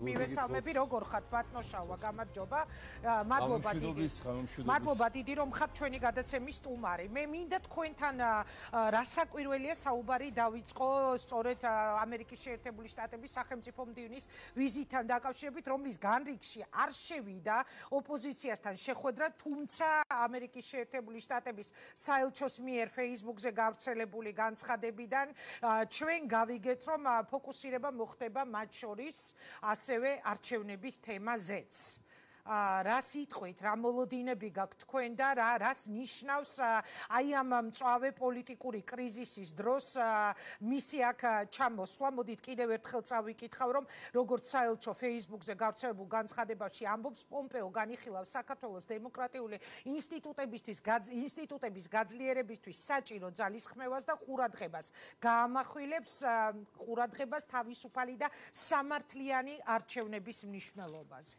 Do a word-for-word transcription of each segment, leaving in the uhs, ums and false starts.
მივესალმები, როგორ ხართ ბატონშავა, გამარჯობა. მადლობა დიდი. მადლობა დიდი რომ ხართ ჩვენი გადაცემის სტუმარი. მე მინდა თქვენთან რასაკვირველია საუბარი დავიწყო სწორედ ამერიკის შეერთებული შტატების სახელმწიფო მდივნის ვიზიტთან დაკავშირებით, რომლის განრიგში არ შევიდა ოპოზიციასთან შეხვედრა, თუმცა ამერიკის შეერთებული შტატების საელჩოს მიერ Facebook-ზე გავრცელებული განცხადებიდან ჩვენ გავიგეთ, რომ ფოკუსირება მოხდება მათ შორის ასევე არჩევნების თემაზეც. რა სიტყვით, რა მოლოდინები გაქვთ თქვენ და რა რას ნიშნავს აი ამ მწვავე პოლიტიკური კრიზისის დროს მისი აქ ჩამოსვლა. მოდით კიდევ ერთხელ წავიკითხავ, რომ როგორც საელჩო Facebook-ზე გავრცელებულ განცხადებაში ამბობს, პომპეო განიხილავს საქართველოს დემოკრატიული ინსტიტუტებისთვის ინსტიტუტების გაძლიერებისთვის საჭირო ძალისხმევას და ყურადღებას. გაამახვილებს ყურადღებას თავისუფალი და სამართლიანი არჩევნების მნიშვნელობაზე.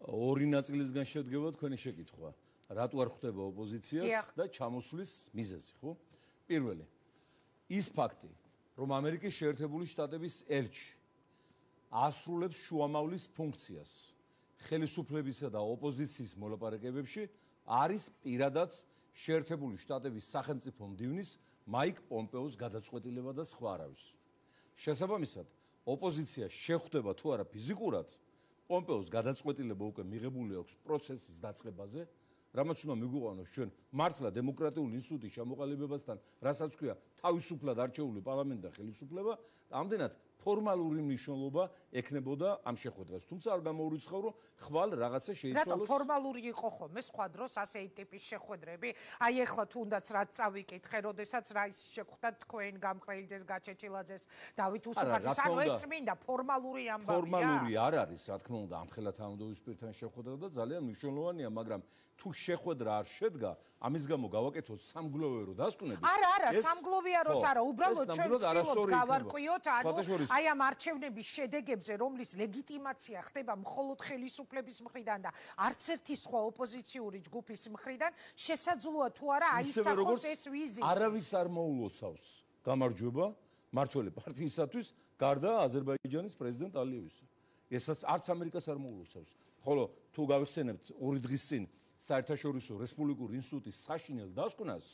ორი ნაწილისგან შედგება თქვენი შეკითხვა. რატო არ ხვდება ოპოზიციას და ჩამოსვლის მიზეზი, ხო? პირველი, ის ფაქტი, რომ ამერიკის შეერთებული შტატების ელჩი ასრულებს შუამავლის ფუნქციას ხელისუფლებისა და ოპოზიციის მოლაპარაკებებში, არის პირადად შეერთებული შტატების სახელმწიფო მდივნის მაიკ პომპეოს გადაწყვეტილება და სხვა არავის. შესაბამისად, ოპოზიცია შეხვდება თუ არა ფიზიკურად, პომპეოს გადაწყვეტილება უკვე მიღებული აქვს პროცესის დაწყებაზე, რამაც უნდა მიგვიყვანოს ჩვენ მართლა დემოკრატიული ინსტიტუტის ჩამოყალიბებასთან, რასაც ქვია თავისუფლად არჩეული პარლამენტი და ხელისუფლება, ამდენად ფორმალური მნიშვნელობა ექნებოდა ამ შეხვედრას. თუმცა არ გამოურიცხავ, რომ ხვალ რაღაცა შეიცვალოს. რატო ფორმალური იყო ხოლმე სხვა დროს ასეთი ტიპის შეხვედრები? აი ეხლა თუნდაც რაც წავიკითხე, როდესაც რა ის შეხვდათ თქვენ გამყრელიძეს, გაჩეჩილაძეს, დავით უსუფაძეს, ანუ ეს წმინდა ფორმალური ამბავია. ფორმალური არ არის, რა თქმა უნდა, ამხელა თანამდებობის პირთან შეხვედრა და ძალიან მნიშვნელოვანია, მაგრამ თუ შეხვედრა არ შედგა, ამის გამო გავაკეთოთ სამგლოვერო დასკვნები. არა, არა, სამგლოვია როს არა, უბრალოდ ჩვენ ვცდილობთ გავარკვიოთ, ანუ აი ამ არჩევნების შედეგებზე, რომლის ლეგიტიმაცია ხდება მხოლოდ ხელისუფლების მხრიდან და არც ერთი სხვა ოპოზიციური ჯგუფის მხრიდან, შესაძლოა თუ არა აისახოს ეს ვიზიტი. არავის არ მოულოცავს გამარჯვება მართველი პარტიისათვის, გარდა აზერბაიჯანის პრეზიდენტ ალიევისა. ესაც არც ამერიკას არ მოულოცავს. ხოლო თუ გავიხსენებთ ორი დღის წინ საერთაშორისო რესპუბლიკური ინსტიტუტის საშინელ დასკვნას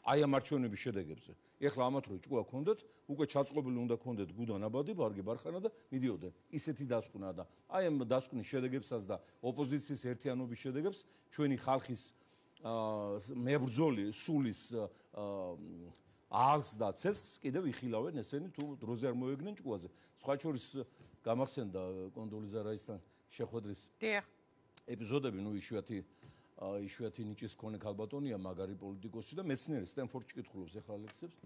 აი ამ არჩევნების შედეგებზე. ეხლა ამათ რო ჭკუა ქონდეთ, უკვე ჩაწყობილი უნდა ქონდეთ გუდან აბადი, ბარგი ბარხანა და მიდიოდნენ. ისეთი დასკვნა და აი ამ დასკვნის შედეგებსაც და ოპოზიციის ერთიანობის შედეგებს ჩვენი ხალხის მებრძოლი სულის არს და ცეცხლს კიდევ იხილავენ ესენი თუ დროზე არ მოეგნენ ჭკუაზე. სხვა შორის გამახსენდა კონდოლიზა რაისთან შეხვედრის ეპიზოდები, ნუ იშვიათი იშვიათი ნიჭის მქონე ქალბატონია, მაგარი პოლიტიკოსი და მეცნიერი, სტენფორდში კითხულობს ახლა ლექციებს.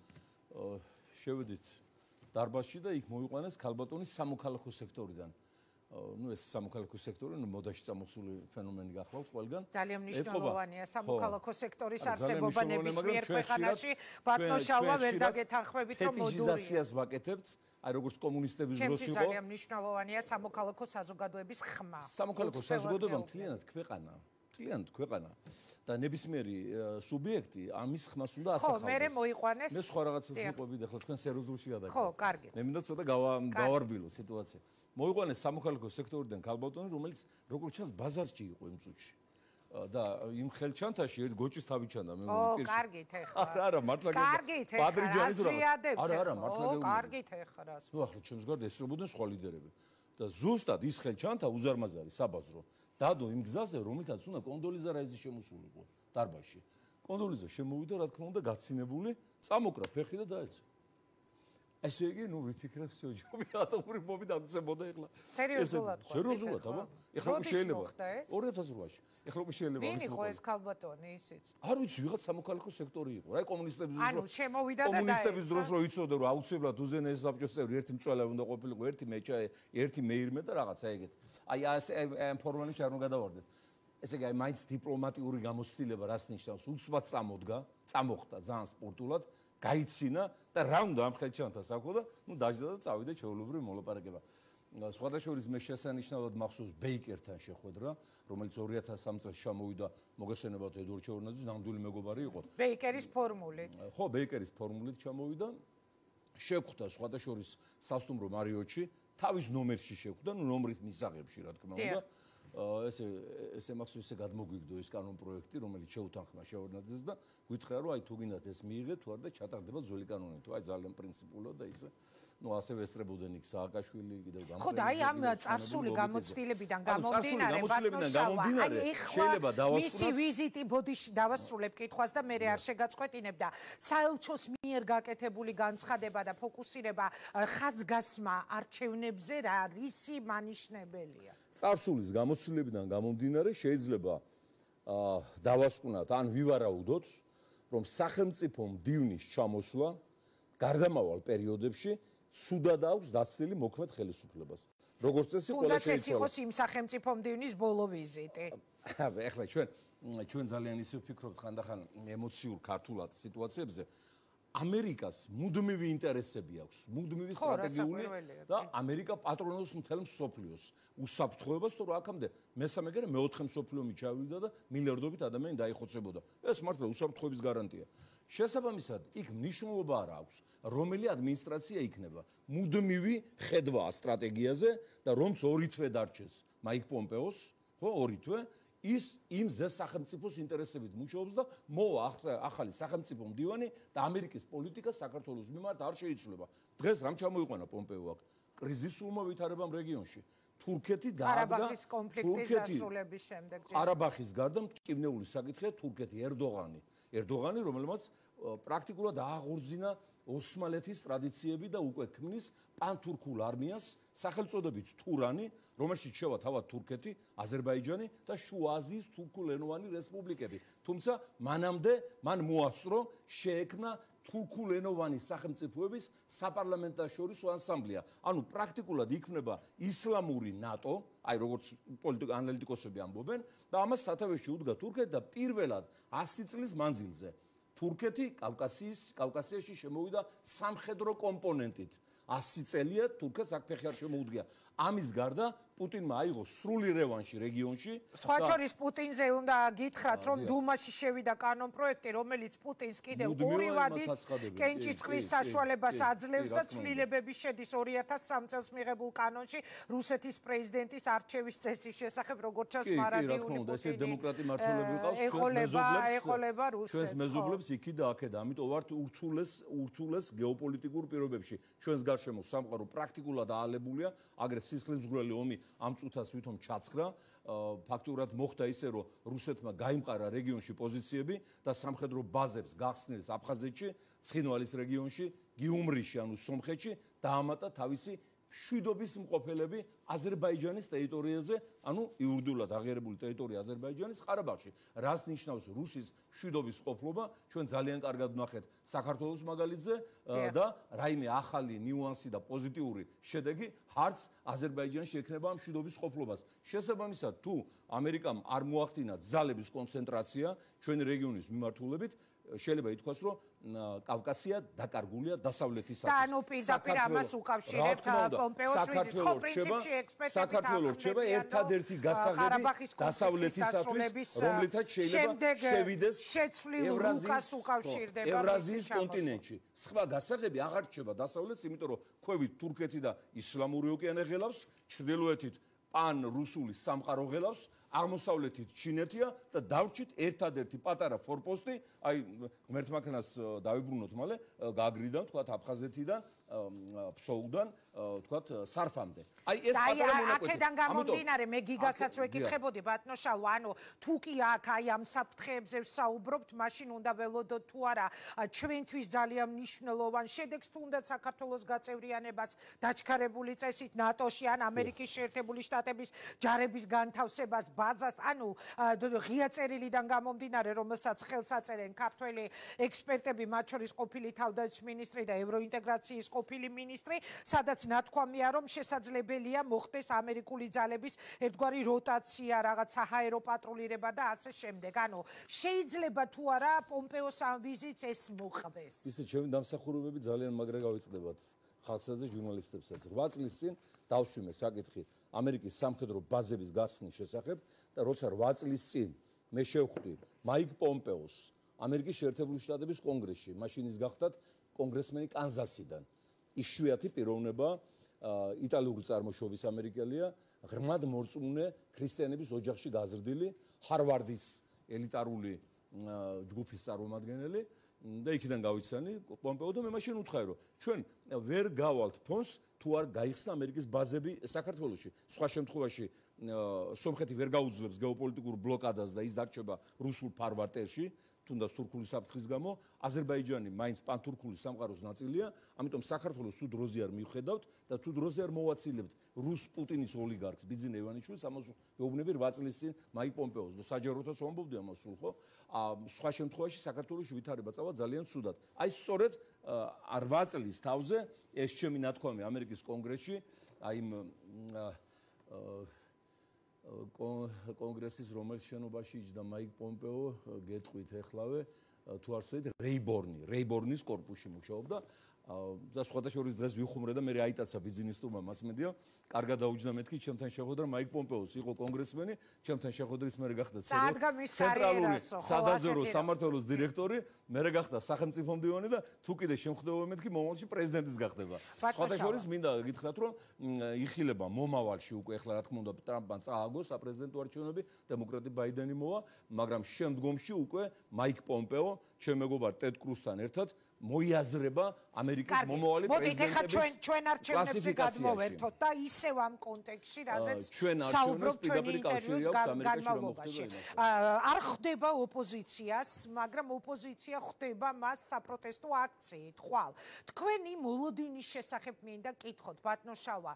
შევედით დარბაზში და იქ მოიყვანეს ქალბატონის სამოქალაქო სექტორიდან. ნუ ეს სამოქალაქო სექტორი, ნუ მოდაში წამოსული ფენომენი გახლავთ ყველგან. ძალიან მნიშვნელოვანია სამოქალაქო სექტორის არსებობა ნებისმიერ ქვეყანაში. ბატონშავა ვერ დაგეთანხმებით, რომ მოდურია. ფეტიშიზაციას ვაკეთებთ. აი როგორც კომუნისტების დროს იყო. ძალიან მნიშვნელოვანია სამოქალაქო საზოგადოების ხმა. სამოქალაქო საზოგადოება მთლიანად ქვეყანა. მთლიანად ქვეყანა და ნებისმიერი სუბიექტი ამის ხმას უნდა ასახავდეს. ხო, მე მოიყვანეს. მე სხვა რაღაცას ვიყვებით, ახლა თქვენ სერიოზულში გადაგეთ. ხო, კარგი. მე მინდა ცოტა გავარბილო სიტუაცია. მოიყვანეს სამოქალაქო სექტორიდან ქალბატონი, რომელიც როგორც ჩანს ბაზარში იყო იმ წუთში. და იმ ხელჩანთაში ერთ გოჭის თავი ჩანდა მე მოვიკირში. ო, კარგით ეხლა. არა, არა, მართლა გეუბნები. კარგით ეხლა. პადრიჯანის რა. არა, არა, მართლა გეუბნები. ო, კარგით ეხლა. ნუ ახლა ჩემს გარდა ესწრებოდნენ სხვა ლიდერები. და ზუსტად ის ხელჩანთა უზარმაზარი საბაზრო დადო იმ გზაზე, რომელთაც უნდა კონდოლიზა რაიზი შემოსულიყო დარბაზში. კონდოლიზა შემოვიდა, რა თქმა უნდა, გაცინებული, წამოკრა ფეხი და დაეცა. ესე იგი, ნუ ვიფიქრე, всё, ჯობი ატომური ბომბი დამცემოდა ეხლა. სერიოზულად ხო? სერიოზულად, აბა. ეხლა უკვე შეიძლება. ორი ათას ოთხში. ეხლა უკვე შეიძლება. ვინ იყო ეს ქალბატონი ისიც? არ ვიცი, ვიღაც სამოქალაქო სექტორი იყო. რა კომუნისტების დროს. ანუ შემოვიდა და კომუნისტების დროს რო იცოდე, რომ აუცილებლად უზენაეს საბჭოს წევრი ერთი მწველე უნდა ყოფილიყო, ერთი მეჭაე, ერთი მეირმე და რაღაცა ეგეთ. აი ამ ფორმალში არ უნდა გადავარდეთ. ესე იგი, აი მაინც დიპლომატიური გამოცდილება რას ნიშნავს? უცბად წამოდგა, წამოხდა ძალიან სპორტულად. გაიცინა და რა უნდა ამ ხელჩანთას აქო და ნუ დაждდა და წავიდა ჩვეულებრივი მოლაპარაკება. სხვადასხვის მე შესანიშნავად მახსოვს ბეიკერთან შეხვედრა, რომელიც ორი ათას სამი წელს ჩამოვიდა, მოგესალმებათ ედვარდ ჩეურნაძის ნამდვილი მეგობარი იყო. ბეიკერის ფორმულით. ხო, ბეიკერის ფორმულით ჩამოვიდა. შეხვდა სხვადასხვის სასტუმრო მარიოტში თავის ნომერში შეხვდა, ნუ ნომრის მისაღებში, რა თქმა უნდა. ესე ესე მახსოვს ესე გადმოგვიგდო ეს კანონ პროექტი, რომელიც შეუთანხმა შევარდნაძეს და გითხრა რომ აი თუ გინდათ ეს მიიღეთ, თუ არ და ჩატარდება ძველი კანონი, თუ აი ძალიან პრინციპულად და ისე ну ასევე ესწრებოდნენ იქ სააკაშვილი კიდევ გამყრელი. ხო და აი ამ წარსული გამოცდილებიდან გამომდინარე ბატონშავა, აი შეიძლება დავასრულოთ მისი ვიზიტი ბოდიში დავასრულებ კითხვას და მე არ შეგაწყვეტინებ და საელჩოს მიერ გაკეთებული განცხადება და ფოკუსირება ხაზგასმა არჩევნებზე რა რისი მანიშნებელია? წარსულის გამოცდილებიდან გამომდინარე შეიძლება დავასკვნათ ან ვივარაუდოთ რომ სახელმწიფო მდივნის ჩამოსვლა გარდამავალ პერიოდებში სუდად აქვს დაცლილი მოქმედ ხელისუფლებას. როგორც წესი ყველა შეიძლება. თუნდაც ეს იყოს იმ სახელმწიფო მდივნის ბოლო ვიზიტი. ეხლა ჩვენ ჩვენ ძალიან ისე ვფიქრობთ ხანდახან ემოციურ ქართულად სიტუაციებზე. ამერიკას მუდმივი ინტერესები აქვს, მუდმივი სტრატეგიული და ამერიკა პატრონობს მთელ მსოფლიოს. უსაფრთხოებას თუ რა აქამდე მესამე გერა მეოთხე მსოფლიო მიჩავიდა და მილიარდობით ადამიანი დაიხოცებოდა. ეს მართლა უსაფრთხოების გარანტია. შესაბამისად, იქ მნიშვნელობა არ აქვს, რომელი ადმინისტრაცია იქნება. მუდმივი ხედვა სტრატეგიაზე და რომც ორი თვე დარჩეს მაიკ პომპეოს, ხო, ორი თვე ის იმ ზე სახელმწიფოს ინტერესებით მუშაობს და მოვა ახალი სახელმწიფო მდივანი და ამერიკის პოლიტიკა საქართველოს მიმართ არ შეიცვლება. დღეს რამ ჩამოიყვანა პომპეო აქ? კრიზისულმა ვითარებამ რეგიონში. თურქეთი დაადგა ყარაბაღის კონფლიქტის დასრულების შემდეგ. ყარაბაღის გარდა მტკივნეული საკითხია თურქეთი, ერდოღანი. ერდოღანი, რომელმაც პრაქტიკულად აღორძინა ოსმალეთის ტრადიციები და უკვე ქმნის პანთურქულ არმიას, სახელწოდებით თურანი, რომელშიც შევა თავად თურქეთი, აზერბაიჯანი და შუა აზიის თურქულენოვანი რესპუბლიკები. თუმცა მანამდე მან მოასწრო შეექმნა თურქულენოვანი სახელმწიფოების საპარლამენტაშორისო ანსამბლია. ანუ პრაქტიკულად იქმნება ისლამური ნატო, აი როგორც პოლიტიკ ანალიტიკოსები ამბობენ, და ამას სათავეში უდგა თურქეთი და პირველად ასი წლის მანძილზე თურქეთი კავკასიის კავკასიაში შემოვიდა სამხედრო კომპონენტით. ასი წელია თურქეთს აქ ფეხი არ შემოუდგია. ამის გარდა პუტინმა აიღო სრული რევანში რეგიონში. სხვა შორის პუტინზე უნდა გითხრათ, რომ დუმაში შევიდა კანონ პროექტი, რომელიც პუტინს კიდევ ორი ვადით კენჭისყრის საშუალებას აძლევს და ცვლილებები შედის ორი ათას სამ წელს მიღებულ კანონში რუსეთის პრეზიდენტის არჩევის წესის შესახებ, როგორც ჩანს მარადიული პუტინი. ესე დემოკრატი მმართველები ვიყავს ჩვენს მეზობლებს. ჩვენს მეზობლებს იქით და აქეთ, ამიტომ ვართ ურთულეს ურთულეს გეოპოლიტიკურ პირობებში. ჩვენს გარშემო სამყარო პრაქტიკულად აალებულია, აგრეთ სისხლისმღვრელი ომი ამ წუთას ვითომ ჩაცხრა, ფაქტურად მოხდა ისე, რომ რუსეთმა გაიმყარა რეგიონში პოზიციები და სამხედრო ბაზებს გახსნილს აფხაზეთში, ცხინვალის რეგიონში, გიუმრიში, ანუ სომხეთში დაამატა თავისი მშვიდობის მყოფელები აზერბაიჯანის ტერიტორიაზე, ანუ იურიდიულად აღიარებული ტერიტორია აზერბაიჯანის ყარაბაღში. რას ნიშნავს რუსის მშვიდობის ყოფილობა? ჩვენ ძალიან კარგად ვნახეთ საქართველოს მაგალითზე და რაიმე ახალი ნიუანსი და პოზიტიური შედეგი არც აზერბაიჯანში ექნება მშვიდობის ყოფილობას. შესაბამისად, თუ ამერიკამ არ მოახდინა ძალების კონცენტრაცია ჩვენი რეგიონის მიმართულებით, შეიძლება ითქვას, რომ კავკასია დაკარგულია დასავლეთისათვის. და ანუ პირდაპირ ამას უკავშირებთ პომპეოს ვიზიტს, ხო პრინციპში ექსპერტები საქართველოს რჩება ერთადერთი გასაღები დასავლეთისათვის, რომლითაც შეიძლება შევიდეს ევრაზიის კონტინენტში. სხვა გასაღები აღარ რჩება დასავლეთს, იმიტომ რომ ქვევით თურქეთი და ისლამური ოკეანე ღელავს, ჩრდილოეთით პან რუსული სამყარო ღელავს, აღმოსავლეთით ჩინეთია და დავრჩით ერთადერთი პატარა ფორპოსტი, აი ღმერთმაქნას დავიბრუნოთ მალე გაგრიდან, თქვათ აფხაზეთიდან, ფსოუდან, თქვათ სარფამდე. აი ეს პატარა მონაკვეთი. აქედან გამომდინარე, მე გიგასაც ვეკითხებოდი ბატონო შალვა, ანუ თუ კი აქ აი ამ საფრთხეებზე ვსაუბრობთ, მაშინ უნდა ველოდოთ თუ არა ჩვენთვის ძალიან მნიშვნელოვან შედეგს, თუნდაც საქართველოს გაწევრიანებას დაჩქარებული წესით ნატოში ან ამერიკის შეერთებული შტატების ჯარების განთავსებას ბაზას, ანუ ღია წერილიდან გამომდინარე, რომელსაც ხელს აწერენ ქართველი ექსპერტები, მათ შორის ყოფილი თავდაცვის მინისტრი და ევროინტეგრაციის ყოფილი მინისტრი, სადაც ნათქვამია, რომ შესაძლებელია მოხდეს ამერიკული ძალების ერთგვარი როტაცია, რაღაც საჰაერო პატრულირება და ასე შემდეგ. ანუ შეიძლება თუ არა პომპეოს ამ ვიზიტს ეს მოხდეს. ისე ჩემი დამსახურებები ძალიან მაგრა გავიწყდებათ ხალხსა ჟურნალისტებსაც. რვა წლის წინ დავსვიმე საკითხი ამერიკის სამხედრო ბაზების გახსნის შესახებ და როცა რვა წლის წინ მე შევხვდი მაიკ პომპეოს ამერიკის შეერთებული შტატების კონგრესში, მაშინ ის გახდათ კონგრესმენი კანზასიდან. იშვიათი პიროვნება იტალიური წარმოშობის ამერიკელია, ღრმად მორწმუნე ქრისტიანების ოჯახში გაზრდილი, ჰარვარდის ელიტარული ჯგუფის წარმომადგენელი და იქიდან გავიცანი პომპეო და მე მაშინ უთხრა რომ ჩვენ ვერ გავალთ ფონს თუ არ გაიხსნა ამერიკის ბაზები საქართველოში. სხვა შემთხვევაში სომხეთი ვერ გაუძლებს გეოპოლიტიკურ ბლოკადას და ის დარჩება რუსულ ფარვატერში, თუნდაც თურქული საფრთხის გამო. აზერბაიჯანი მაინც პანთურქული სამყაროს ნაწილია, ამიტომ საქართველოს თუ დროზე არ მივხედავთ და თუ დროზე არ მოვაცილებთ რუს პუტინის ოლიგარქს ბიძინა ივანიშვილს, ამას ვეუბნები რვა წლის წინ მაიკ პომპეოს და საჯაროთაც ვამბობდი ამას სულ ხო? სხვა შემთხვევაში საქართველოს ვითარება წავა ძალიან ცუდად. აი სწორედ რვა წლის თავზე ეს ჩემი ნათქვამი ამერიკის კონგრესში, აი იმ კონგრესის რომელიც შენობაში იჯდა მაიკ პომპეო, გეტყვით ეხლავე თუ არ ვცდით რეიბორნი, რეიბორნის კორპუსში მუშაობდა და სხვათა შორის დღეს ვიხუმრე და მე აიტაცა ბიზნესტურმა მასმედია, კარგად დაუჯდა მეთქი, ჩემთან შეხვედრა მაიკ პომპეოს იყო კონგრესმენი, ჩემთან შეხვედრის მერე გახდა ცენტრალური სადაზვერვო სამმართველოს დირექტორი, მერე გახდა სახელმწიფო მდივანი და თუ კიდე შემხვდება მეთქი, მომავალში პრეზიდენტის გახდება. სხვათა შორის მინდა გითხრათ, რომ იხილება მომავალში უკვე ახლა რა თქმა უნდა ტრამპმა წააგო საპრეზიდენტო არჩევნები, დემოკრატი ბაიდენი მოვა, მაგრამ შემდგომში უკვე მაიკ პომპეო, ჩემ მეგობარ ტედ კრუსთან ერთად მოიაზრება ამერიკის მომავალი პრეზიდენტების ჩვენ არჩევნებზე გადმოვერთოთ და ისევ ამ კონტექსტში, რაზეც საუბრობთ ჩვენი ინტერვიუს განმავლობაში. არ ხდება ოპოზიციას, მაგრამ ოპოზიცია ხდება მას საპროტესტო აქციით, ხვალ. თქვენი მოლოდინის შესახებ მინდა კითხოთ, ბატონო შავა,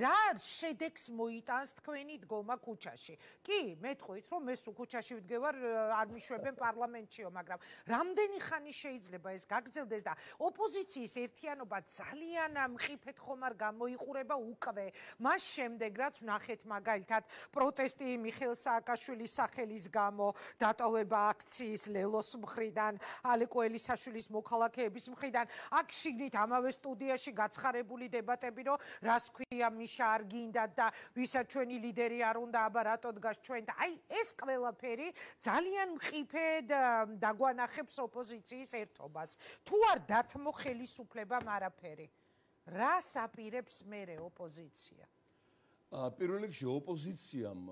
რა შედეგს მოიტანს თქვენი დგომა ქუჩაში? კი, მეტყვით, რომ მე სულ ქუჩაში ვდგევარ, არ მიშვებენ პარლამენტშიო, მაგრამ რამდენი ხანი შეიძლება ეს გაგრძელდეს? და ოპოზიციის ერთიანობა ძალიან მყიფეთ ხომ არ გამოიყურება უკვე მას შემდეგ რაც ვნახეთ მაგალითად პროტესტი მიხეილ სააკაშვილის სახელის გამო დატოვება აქციის ლელოს მხრიდან ალეკო ელისაშვილის მოქალაქეების მხრიდან აქ შიგნით ამავე სტუდიაში გაცხარებული დებატები რომ რას ქვია მიშა არ გინდა და ვისაც ჩვენი ლიდერი არ უნდა აბა რატო დგას ჩვენ და აი ეს ყველაფერი ძალიან მყიფედ დაგვანახებს ოპოზიციის ერთობას თუ არ დათმო ხელისუფლებამ არაფერი. რას აპირებს მერე ოპოზიცია? პირველ რიგში ოპოზიციამ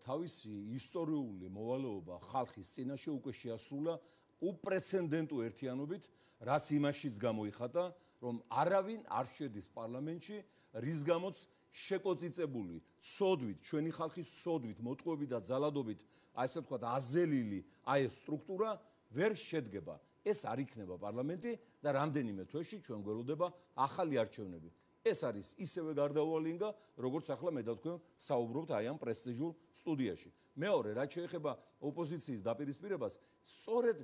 თავისი ისტორიული მოვალეობა ხალხის წინაშე უკვე შეასრულა უპრეცედენტო ერთიანობით, რაც იმაშიც გამოიხატა, რომ არავინ არ შედის პარლამენტში, რის გამოც შეკოწიწებული სოდვით, ჩვენი ხალხის სოდვით, მოტყუებით და ძალადობით, აი ესე ვთქვათ, აზელილი აი ეს სტრუქტურა ვერ შედგება. ეს არ იქნება პარლამენტი და რამდენიმე თვეში ჩვენ გველოდება ახალი არჩევნები. ეს არის ისევე გარდაუვალინგა, როგორც ახლა მე და თქვენ საუბრობთ აი ამ პრესტიჟულ სტუდიაში. მეორე, რაც შეეხება ოპოზიციის დაპირისპირებას, სწორედ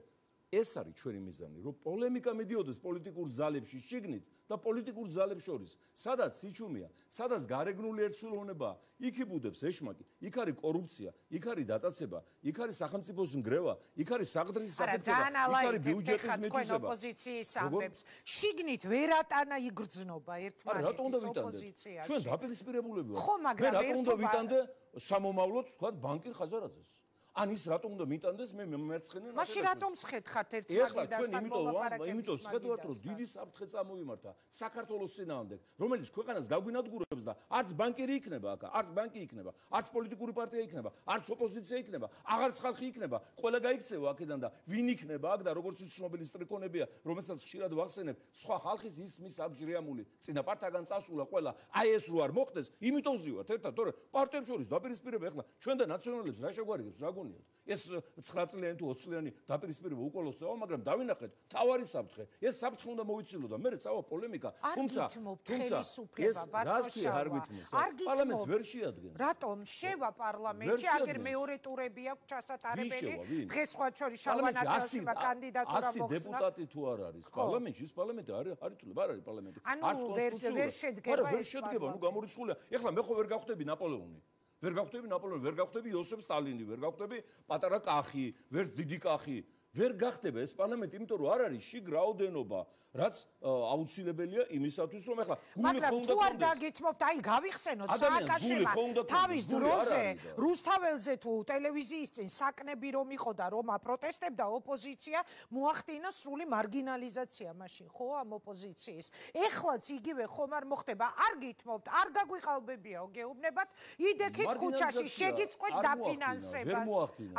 ეს არის ჩვენი მიზანი, რომ პოლემიკა მიდიოდეს პოლიტიკურ ძალებში შიგნით და პოლიტიკურ ძალებს შორის. სადაც სიჩუმეა, სადაც გარეგნული ერთსულოვნებაა, იქ იბუდებს ეშმაკი, იქ არის კორუფცია, იქ არის დატაცება, იქ არის სახელმწიფოს ნგრევა, იქ არის საღდრის საფრთხე, იქ არის ბიუჯეტის მითვისება. ოპოზიციის ამბებს შიგნით ვერ ატანა იგრძნობა ერთმანეთის ოპოზიციაში. ჩვენ დაპირისპირებულები ვართ. მე რატომ უნდა ვიტანდე სამომავლოდ, თქვა ბანკირ ხაზარაძეს? ან ის რატომ უნდა მიტანდეს მე მერცხენე მაშინ რატომ სხედხართ ერთმანეთთან მოლაპარაკებისას? იმიტომ სხედვართ რომ დიდი საფრთხე წამოიმართა საქართველოს წინააღმდეგ, რომელიც ქვეყანას გაგვინადგურებს და არც ბანკირი იქნება აქ, არც ბანკი იქნება, არც პოლიტიკური პარტია იქნება, არც ოპოზიცია იქნება, აღარც ხალხი იქნება, ყველა გაიქცევა აქედან და ვინ იქნება აქ და როგორც ცნობილი სტრიქონებია, რომელსაც ხშირად ვახსენებ, სხვა ხალხის ისმის აგჟრიამული წინაპართაგან წასულა ყველა, აი ეს რო არ მოხდეს, იმიტომ ზივართ ერთად, თორე პარტიებს შორის დაპირისპირება ახლა ჩვენ და ნაციონალებს რა შეგვარიგებს, რა ეს ცხრა წლიანი თუ ოცი წლიანი დაპირისპირება უკოლოსაა, მაგრამ დავინახეთ თავარი საფრთხე. ეს საფრთხე უნდა მოიცილო და მე წავა პოლემიკა, თუმცა თუმცა ეს რას ქვია არ გითმობს? პარლამენტს ვერ შეადგენს. რატომ შევა პარლამენტში, აგერ მეორე ტურები აქვს ჩასატარებელი, დღეს სხვა შორის შალვანაკელსება კანდიდატურა მოხსნა. ასი დეპუტატი თუ არ არის პარლამენტში, ეს პარლამენტი არის არის თუ არ არის პარლამენტი? არც კონსტიტუცია ვერ შედგება. ვერ შედგება, ნუ გამორიცხულია. ეხლა მე ხო ვერ გავხდები ნაპოლეონი. ვერ გავხდები ნაპოლეონი, ვერ გავხდები იოსებ სტალინი, ვერ გავხდები პატარა კახი, ვერც დიდი კახი. ვერ გახდება ეს პარლამენტი, იმიტომ რომ არ არის შიგ რაოდენობა, რაც აუცილებელია იმისათვის, რომ ახლა გული ხო უნდა თუ არ დაგეთმობთ, აი გავიხსენოთ სააკაშემა თავის დროზე რუსთაველზე თუ ტელევიზიის წინ საკნები რომ იყო და რომ აპროტესტებდა ოპოზიცია, მოახდინა სრული მარგინალიზაცია მაშინ, ხო, ამ ოპოზიციის. ეხლაც იგივე ხომ არ მოხდება, არ გითმობთ, არ გაგვიყალბებიაო, გეუბნებათ, იდექით ქუჩაში შეგიწყვეთ დაფინანსებას.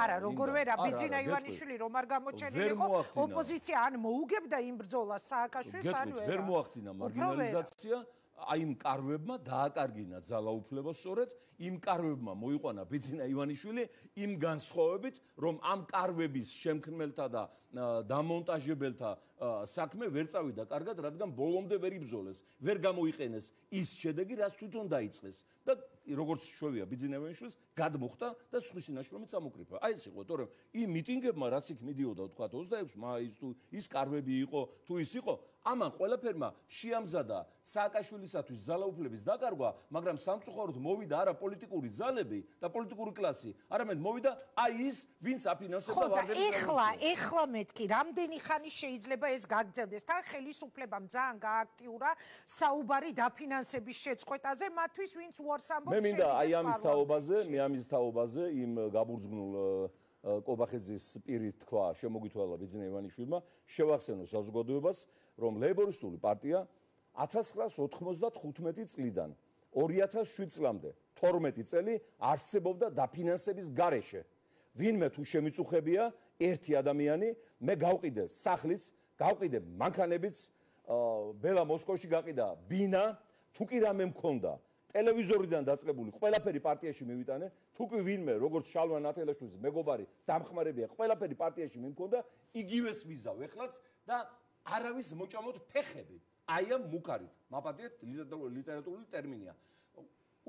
არა, როგორ ვერა, ბიძინა ივანიშვილი რომ არ გამოჩენილიყო, ოპოზიცია ან მოუგებდა იმ ბრძოლას სააკაშვილს, ან ვერა. ვერ მოახდინა მარგინალიზაცია. აი იმ კარვებმა დააკარგინა ძალაუფლება სწორედ იმ კარვებმა მოიყვანა ბიძინა ივანიშვილი იმ განსხვავებით რომ ამ კარვების შემქმნელთა და დამონტაჟებელთა საქმე ვერ წავიდა კარგად რადგან ბოლომდე ვერ იბრძოლეს ვერ გამოიყენეს ის შედეგი რაც თვითონ დაიწყეს და როგორც შვევია ბიძინა ივანიშვილს გადმოხდა და სხვისი ნაშრომით წამოკრიფა აი ეს იყო თორემ იმ მიტინგებმა რაც იქ მიდიოდა თქვა ოცდაექვსი მაისს თუ ის კარვები იყო თუ ის იყო ამან ყველაფერმა შეამზადა სააკაშვილისათვის ძალაუფლების დაკარგვა, მაგრამ სამწუხაროდ მოვიდა არა პოლიტიკური ძალები და პოლიტიკური კლასი, არამედ მოვიდა აი ის, ვინც აფინანსებდა ვარდერის რევოლუციას. ეხლა, ეხლა მეთქი, რამდენი ხანი შეიძლება ეს გაგრძელდეს? თან ხელისუფლებამ ძალიან გააქტიურა საუბარი დაფინანსების შეწყვეტაზე, მათთვის ვინც უარს ამბობს. მე მინდა აი ამის თაობაზე, მე ამის თაობაზე იმ გაბურძგნულ კობახეძის პირით თქვა შემოგითვალა ბიძინა ივანიშვილმა შევახსენო საზოგადოებას რომ ლეიბორისტული პარტია ათას ცხრაას ოთხმოცდახუთმეტი წლიდან ორი ათას შვიდ წლამდე თორმეტი წელი არსებობდა დაფინანსების გარეშე ვინმე თუ შემიწუხებია ერთი ადამიანი მე გავყიდე სახლიც გავყიდე მანქანებიც ბელა მოსკოვში გაყიდა ბინა თუ კი რამე მქონდა ტელევიზორიდან დაწყებული ყველაფერი პარტიაში მივიტანე თუ კი ვინმე როგორც შალვა ნათელაშვილის მეგობარი დამხმარებია ყველაფერი პარტიაში მიმქონდა იგივეს ვიზავ ეხლაც და არავის მოჭამოთ ფეხები აი ამ მუქარით მაპატიეთ ლიტერატურული ტერმინია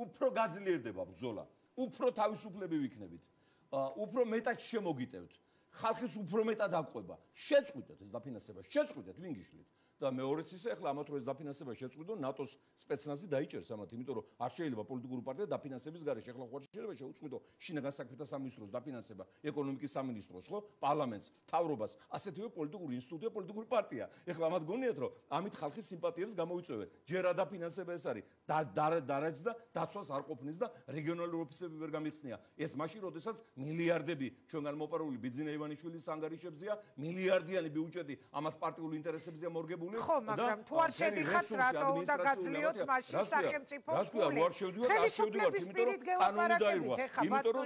უფრო გაძლიერდება ბრძოლა უფრო თავისუფლები ვიქნებით უფრო მეტად შემოგიტევთ ხალხის უფრო მეტად აყვება შეწყვიტეთ ეს დაფინანსება შეწყვიტეთ ვინ გიშლით და მეორეც ისე ახლა ამათ რო ეს დაფინანსება შეწყვიტონ ნატოს სპეცნაზი დაიჭერს ამათ იმიტომ რომ არ შეიძლება პოლიტიკური პარტია დაფინანსების გარეშე ახლა ხო შეიძლება შეუწყვიტო შინაგან საქმეთა სამინისტროს დაფინანსება ეკონომიკის სამინისტროს ხო პარლამენტს თავრობას ასეთივე პოლიტიკური ინსტიტუტია პოლიტიკური პარტია ახლა ამათ გონიათ რომ ამით ხალხის სიმპათიებს გამოიწვევენ ჯერ ადაფინანსება ეს არის დარაჯს და დაცვას არ ყოფნის და რეგიონალური ოფისები ვერ გამიხსნია ეს მაშინ როდესაც მილიარდები ჩვენგან მოპარული ბიძინა ივანიშვილის ანგარიშებზია მილიარდიანი ბიუჯეტი ამათ პარტიული ინტერესებზია მორგებული ხო, მაგრამ თუ არ შედიხართ, რატო უნდა გაძლიოთ მაშინ სახელმწიფოს ფული? ხელისუფლების პირით გელაპარაკებით, ეხა ბატონო.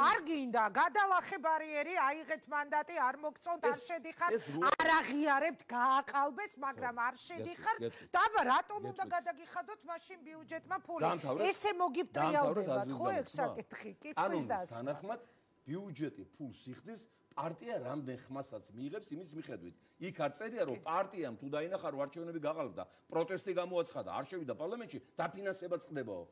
არ გინდა, გადალახე ბარიერი, აიღეთ მანდატი, არ მოგწონთ, არ შედიხართ, არ აღიარებთ, გააყალბეს, მაგრამ არ შედიხართ. და რატომ უნდა გადაგიხადოთ მაშინ ბიუჯეტმა ფული? ესე მოგიბრიალდებათ, ხო ეგ საკითხი? კითხვის დასმა. თანახმად ბიუჯეტი ფულს იხდის პარტია რამდენ ხმასაც მიიღებს იმის მიხედვით. იქ არ წერია რომ პარტიამ თუ დაინახა რომ არჩევნები გაყალბდა, პროტესტი გამოაცხადა, არ შევიდა პარლამენტში, დაფინანსება წყდებაო.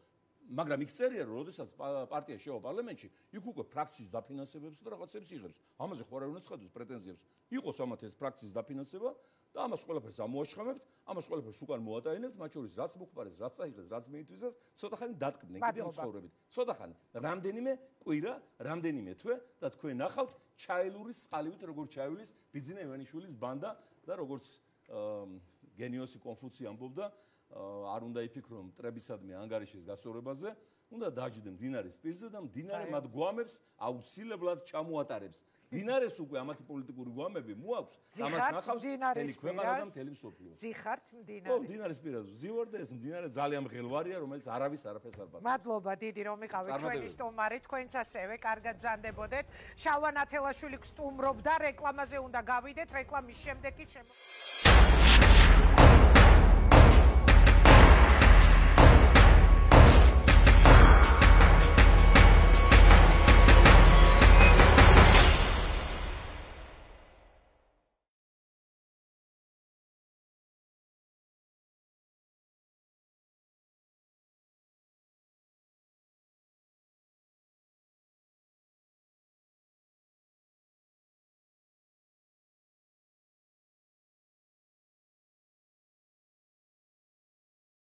მაგრამ იქ წერია რომ როდესაც პარტია შევა პარლამენტში, იქ უკვე ფრაქციის დაფინანსებებს და რაღაცებს იღებს. ამაზე ხო არ უნდა ცხადოს პრეტენზიებს. იყოს ამათ ეს ფრაქციის დაფინანსება და ამას ყველაფერს ამოაშხამებთ, ამას ყველაფერს უკან მოატაინებთ, მათ შორის რაც მოხპარეს, რაც აიღეს, რაც მიითვისეს, ცოტა ხანი დატკბდნენ კიდევ ცხოვრებით. ცოტა ხანი, რამდენიმე კვირა, რამდენიმე თვე და თქვენ ნახავთ ჩაილურის წყალივით როგორ ჩაივლის ბიძინა ივანიშვილის ბანდა და როგორც გენიოსი კონფუცი ამბობდა არ უნდა იფიქრონ მტრებისადმი ანგარიშის გასწორებაზე, უნდა დაждდენ მდინარის პირზე და მდინარე მათ გვამებს აუცილებლად ჩამოატარებს. მდინარეს უკვე ამათი პოლიტიკური გვამები მოაქვს, ამას ნახავს მთელი ქვეყანა და მთელი მსოფლიო. ზიხართ მდინარის. ო, მდინარის პირაზე ვზივარ და ეს მდინარე ძალიან მღელვარია, რომელიც არავის არაფერს არ პატივს. მადლობა დიდი რომ იყავით ჩვენი სტუმარი, თქვენც ასევე კარგად ზანდებოდეთ. შალვა ნათელაშვილი გსტუმრობდა, რეკლამაზე უნდა გავიდეთ, რეკლამის შემდეგ კი შემო